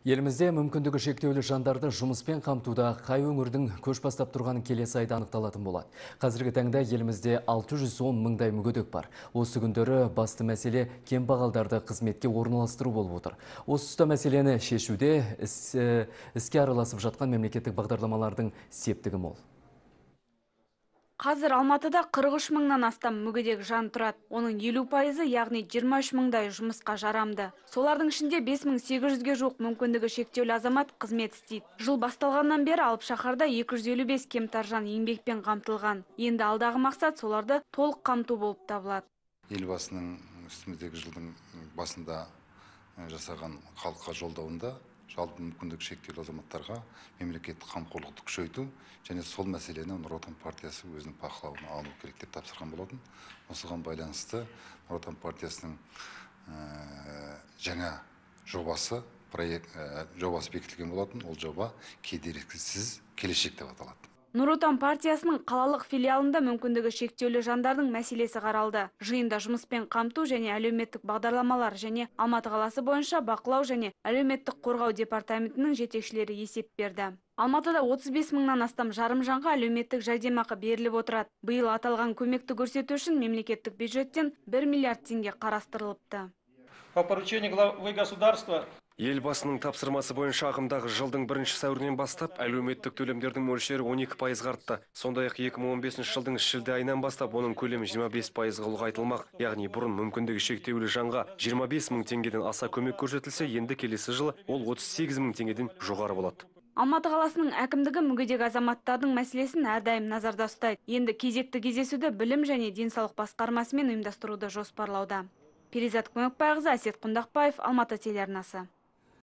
Елімізде мүмкіндігі шектеулі жандарды жұмыспен қамтуда қай өңірдің көш бастап тұрғаны келесі айда анықталатын болады. Қазіргі таңда елімізде 610 мыңдай мүгедек бар. Осы күндері басты мәселе кембағалдарды қызметке орналастыру болып отыр. Осы тұста мәселені шешуде іске араласып жатқан мемлекеттік бағдарламалардың септігі мол. Қазір Алматыда 43 мыңнан астам мүгедек жан тұрады. Оның 50%, яғни 23 мыңдай жұмысқа жарамды. Солардың ішінде 5800-ге жуық мүмкіндігі шектеулі азамат қызмет істейді. Жыл басталғаннан бері алып шаһарда 255 кемтар жан еңбекпен қамтылған. Енді алдағы мақсат соларды толық қамту болып табылады. Елбасының үстіміздегі жылдың басында жасаған халыққа жолдауында жалпы мүмкіндігі шектеулі азаматтарға мемлекеттік қамқорлықты күшейту және сол мәселені Нұр Отан партиясы өзінің бақылауына алу керек деп тапсырған болатын. Осыған байланысты Нұр Отан партиясының жаңа жобасы бекітілген болатын. Ол жоба кедергісіз келешек деп аталады. Нұр Отан партиясының қалалық филиалында мүмкіндігі шектеулі жандардың мәселесі қаралды. Жиында жұмыспен қамту және әлеуметтік бағдарламалар және Алматы қаласы бойынша бақылау және әлеуметтік қорғау департаментінің жетекшілері есеп берді. Алматыда 35 мыңнан астам жарым жанға әлеуметтік жәрдемақы беріліп отырады. Биыл аталған көмекті көрсету үшін мемлекеттік бюджеттен 1 миллиард теңге қарастырылыпты. По поручению главы государства Елбасының тапсырмасы бойынша ағымдағы жылдың 1 сәуірінен бастап әлеуметтік төлемдердің мөлшері 12% артты. Сондай-ақ 2015 жылдың шілде айынан бастап оның көлемі 25%-ға ұлғайтылмақ. Яғни бұрын мүмкіндігі шектеулі жанға 25 мың теңгеден аса көмек көрсетілсе, енді келесі жылы ол 38 мың теңгеден жоғары болады. Алматы қаласының әкімдігі мүгедек азаматтардың мәселесін әрдайым назарда ұстайды. Енді кезекті кездесуді білім және денсаулық басқармасымен ұйымдастыруды жоспарлауда. Перизат Көмекбайқызы, Әсет Құндақбаев, Алматы телеарнасы.